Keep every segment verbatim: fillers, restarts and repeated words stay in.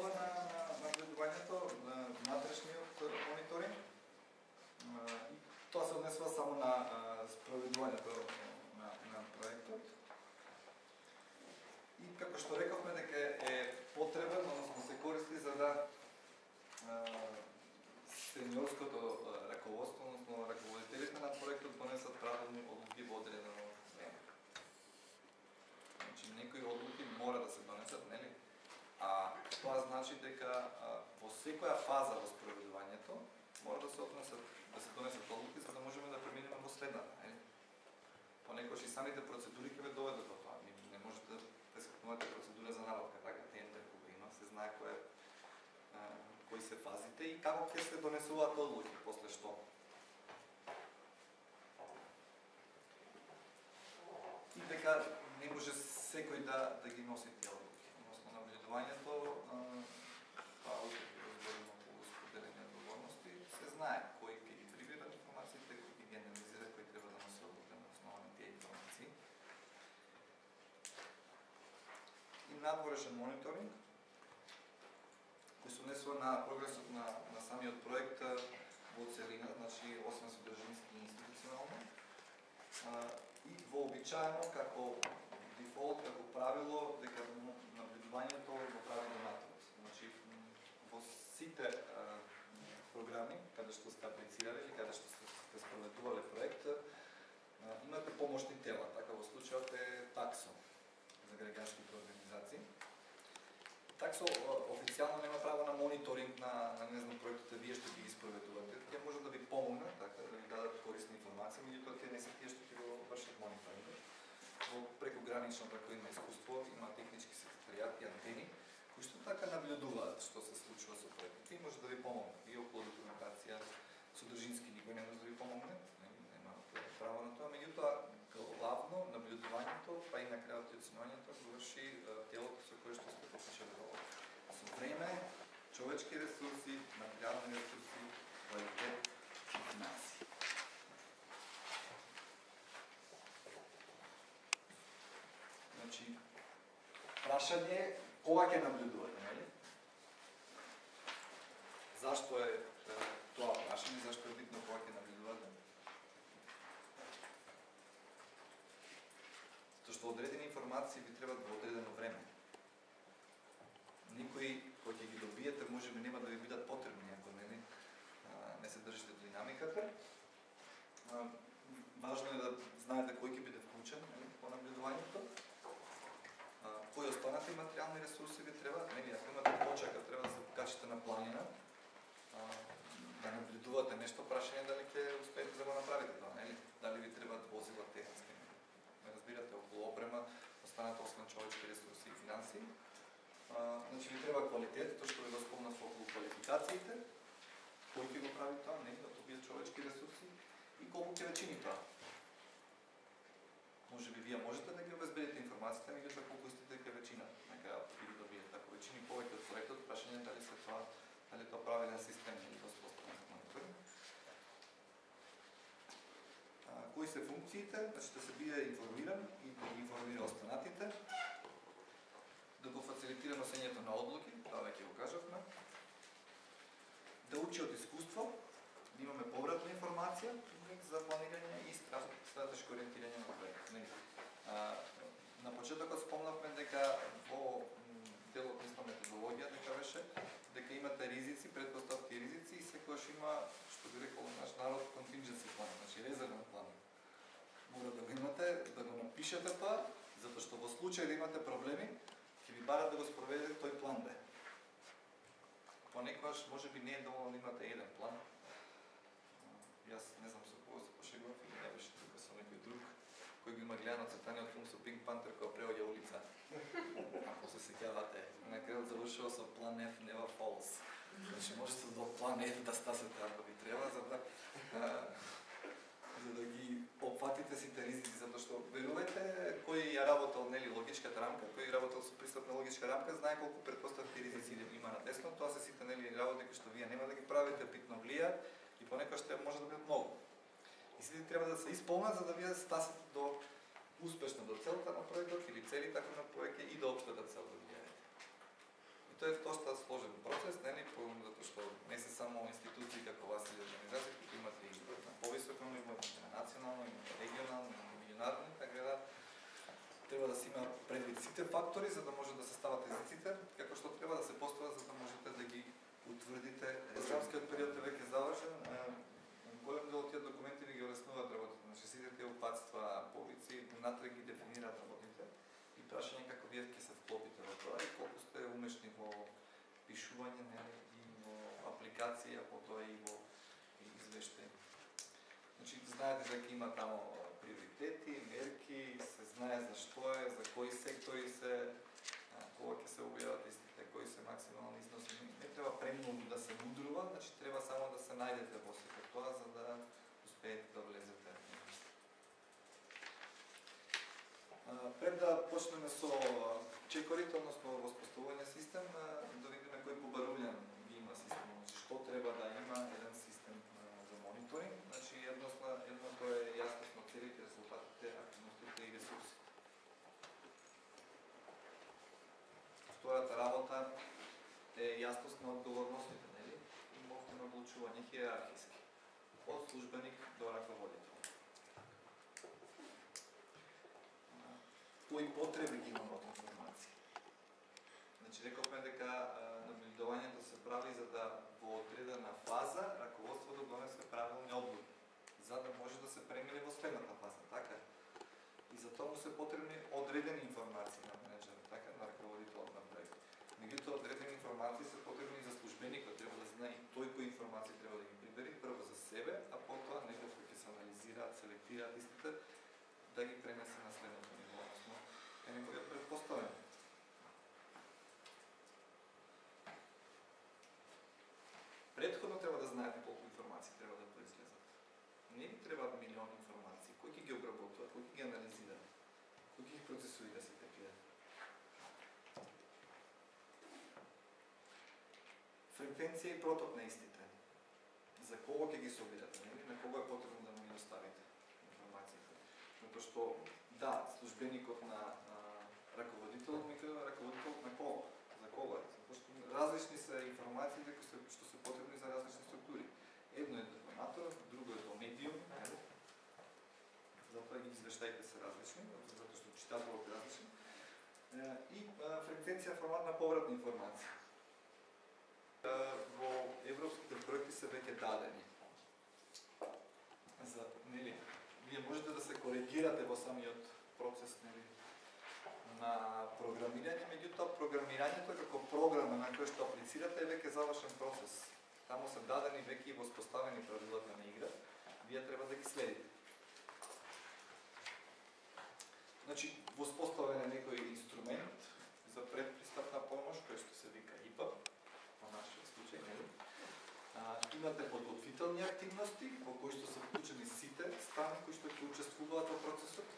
основа на наблюдувањето на внатрешниот мониторинг. И тоа се однесува само на спроведувањето на, на проектот. И како што рековме дека е потребен, односно се користи за да сениорското раководство, односно раководителите на проектот донесат правилни одлуки во одредено време. Значи некои одлуки мора да се донесат, нели? А тоа значи дека во секоја фаза во спроведувањето мора да се однесат, да се донесат одлуки за да можеме да преминеме во следната, нели? Понекогаш и самите процедури ќе ве доведат до тоа. Не можете да прескакнувате процедура за набавка, така тендер кога има, се знае кој е, кои се фазите и како ќе се донесуваат одлуки после што. И дека не може секој да да ги носи тие одлуки. Односно наблюдувањето, тоа разборимо околу споделени одговорности, се знае кој ќе ги прибира информациите, кој ќе ги анализира, кој треба да носи одлука на основа на тие информации. И надворешен мониторинг, кој се однесува на прогресот на, на самиот проект во целина, значи освен содржински и институционално, и вообичаено како дефолт, како правило, дека наблюдувањето го прави донатор. Значи, во сите а, програми, каде што сте аплицирали или каде што сте спроведувале проект, а, имате помошни тела, така во случајот е таксо за граѓанските организации. Таксо официјално нема право на мониторинг на, на не знам, проектите вие што ги испроведувате. Тие може да ви помогнат, така, да ви дадат корисни информации, меѓутоа тие не се тие што ќе го вршат мониторинг. Во прекогранично како има искуство, има технички секретаријати, антени, кои што така наблюдуваат што се случува со проектите и може да ви помогнат. И околу документација, содржински никој не може да ви помогне, нема право на тоа, меѓутоа главно наблюдувањето, па и на крајот и оценувањето го врши телото со кое што сте подпишали договор. Со време, човечки ресурси, материјални ресурси, квалитет и финанси. Значи, прашање е кога ќе наблюдувате, нели? Зашто е тоа прашање, зашто е битно кога ќе наблюдувате? Затоа што одредени информации ви требаат во одредено време. Никои кои ќе ги добиете можеби нема да ви бидат потребни ако не, не се држите динамиката. Важно е да знаете кој ќе биде вклучен по наблюдувањето. Кои останати материјални ресурси ви требаат, нели, ако имате почека, треба да се покачите на планина, да наблюдувате нешто, прашање дали ќе успеете да го направите тоа, нели? Дали ви требаат возила технички, ме разбирате, околу опрема, останат освен човечки ресурси и финанси. Значи ви треба квалитет, тоа што ви го спомнав околу квалификациите, кој ќе го прави тоа, нели, да тоа бидат човечки ресурси и колку ќе ве чини тоа. Може би вие можете да ги обезбедите информациите, меѓутоа колку истите ќе веќина на крајот ќе ги добиете. Ако веќини повеќе од проектот, прашање дали се тоа, дали тоа правилен систем или тоа споставен за мониторинг. Кои се функциите? Значи да се биде информиран и да ги информира останатите, да го фацилитира носењето на одлуки, тоа веќе го кажавме, да учи од искуство, да имаме повратна информација за планирање и стратешко ориентирање на проект. На почетокот спомнавме дека во делот на методологија дека беше дека имате ризици, претпоставки и ризици и секогаш има, што би рекол наш народ, contingency план, значи резервен план. Мора да го имате, да го напишете тоа, затоа што во случај да имате проблеми, ќе ви барат да го спроведете тој план Б. Понекогаш можеби не е доволно да имате еден план. Јас не знам со кого се пошегував или не беше тука со некој друг кој го има гледано цртаниот филм со Пинк Пантер која преоѓа улица. Ако се сеќавате, на крајот завршува со план F never falls. Значи можете до план F да стасете ако ви треба за да за да ги опфатите сите ризици, затоа што верувајте кој ја работел нели логичката рамка, кој работел со пристапна логичка рамка, знае колку претпоставки и ризици има на десно, тоа се сите нели работи кои што вие нема да ги правите, питно влијаат и понекогаш те може да бидат многу. И сите треба да се исполнат за да вие стасите до успешно до целта на проектот или целите на проекти и до општата цел да видите. И тоа е доста сложен процес, нели, затоа што не се само институции како вас или организации, които имат и на повисоко ниво, на национално, на регионално, на меѓународно, така да треба да се има предвид сите фактори за да може да се стават езиците, како што треба да се постават за да можете да ги утврдите. Програмскиот период е веќе завршен. Голем дел од тие документи ви ги олеснуваат работите. Значи сите тие упатства, повици, внатре ги дефинираат работите и прашање како вие ќе се вклопите во тоа и колку сте умешни во пишување, нели, и во апликација, потоа и во извештај. Значи знаете дека има таму приоритети, мерки, се знае за што е, за кои сектори се, кога ќе се објават истите, кои се максимални износи. Не треба премногу да се мудрува, значи треба само да се најдете во сето тоа за да успеете да влезете. Пред да почнеме со чекорите, односно воспоставување систем, да видиме кој побарувања ги има системот. Значи што треба да има еден систем за мониторинг. Значи едносно едното е јасност на целите, резултатите, активностите и ресурси. Втората работа е јасност на одговорностите, нели? И мовно надлучување хиерархиски. Од службеник до раководител. Кои потреби ги имаме од информација? Значи рековме дека наблюдувањето се прави за да во одредена фаза раководството донесе правилни одлуки, за да може да се премине во следната фаза, така? И за тоа му се потребни одредени информации на менеджерот, така, на раководителот на проект. Меѓутоа, одредени информации се потребни за службеникот, треба да знае и тој кои информации треба да ги прибери, прво за себе, а потоа некој кој ќе се анализираат, селектираат истите, да ги пренесе на следното ниво, односно е неговиот предпоставен. Предходно треба да знаете колку информации треба да произлезат. Не ви требаат милиони информации. Кој ќе ги обработува, кој ќе ги анализира, кој ќе ги процесуира сите тие. Фреквенција и проток на истите. За кого ќе ги собирате, нели? На кого е потребно да му ги доставите информациите. Затоа што да, службеникот на, на раководителот ми кажа раководителот на кого? За кого е? Затоа што различни се информациите што се потребни за различни структури. Едно е до донатор, друго е до медиум, нели? Затоа ги извештаите се различни, затоа што читателот е различен. И фреквенција формат на повратна информација. Во европските проекти се веќе дадени. За, нели, вие можете да се коригирате во самиот процес, нели, на програмирање, меѓутоа програмирањето како програма на која што аплицирате е веќе завршен процес. Таму се дадени веќе и воспоставени правилата на игра, вие треба да ги следите. Значи, воспоставен е некој инструмент за предпристапна помош, кој што се вика И П А, во нашиот случај, нели? Имате подготвителни активности во кои што се вклучени сите страни кои што ќе учествуваат во процесот,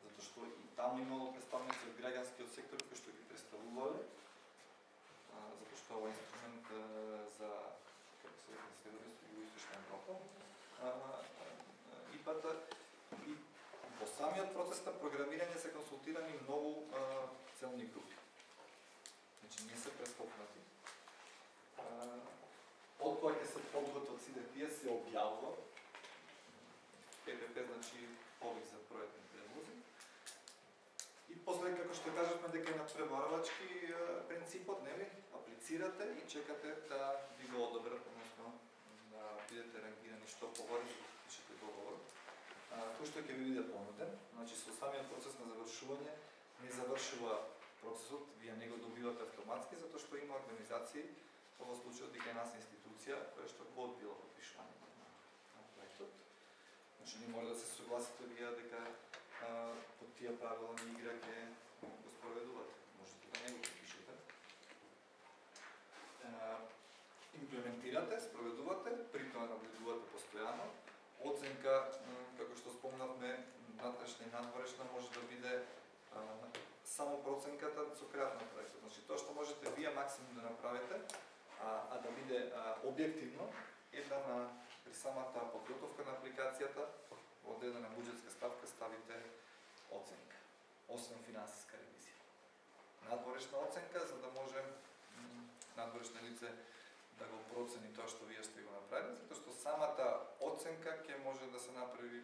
затоа што и таму имало представници од граѓанскиот сектор кои што ги представувале, затоа што овој инструмент за како се вика следување во Југоисточна Европа, И П А и во самиот процес на програмирање се консултирани многу целни групи. Значи не се прескокнати. Од кога ќе се подготват сите тие се објавува П П П, значи повик за проектни предлози. И после како што кажавме дека е надпреварувачки принципот, нели, аплицирате и чекате да ви го одобрат, односно да бидете рангирани што погоре за да пишете договор. Кој што ќе ви биде понуден, значи со самиот процес на завршување не завршува процесот, вие не го добивате автоматски, затоа што има организации, во случајот дека е нас институција која што го одбила подпишувањето на проектот. Значи не може да се согласите вие дека а, под тие правила на игра ќе го спроведувате. Можете да не го подпишете. А, имплементирате, спроведувате, при тоа наблюдувате постојано. Оценка, како што спомнавме, натрешна и надворешна може да биде а, само проценката со крајот на проектот. Значи тоа што можете вие максимум да направите, а, а да биде а, објективно, е да на при самата подготовка на апликацијата во одредена буџетска ставка ставите оценка, освен финансиска ревизија. Надворешна оценка за да може лице да го процени тоа што вие сте го направили, затоа што самата оценка ќе може да се направи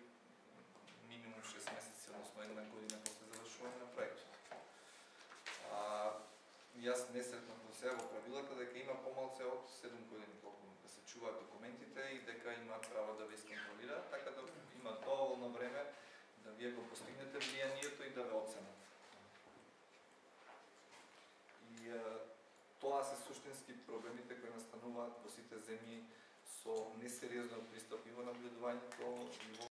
минимум шест месеци, односно една година после завршување на проектот. А, јас не сретнав до сега во правилата дека има помалце од седум години колку да се чуваат документите и дека имаат право да ве исконтролираат, така да има доволно време да вие го постигнете влијанието и да ве оценат. И а, тоа се суштински проблемите кои настануваат во сите земји со несериозно пристап и во наблюдувањето и во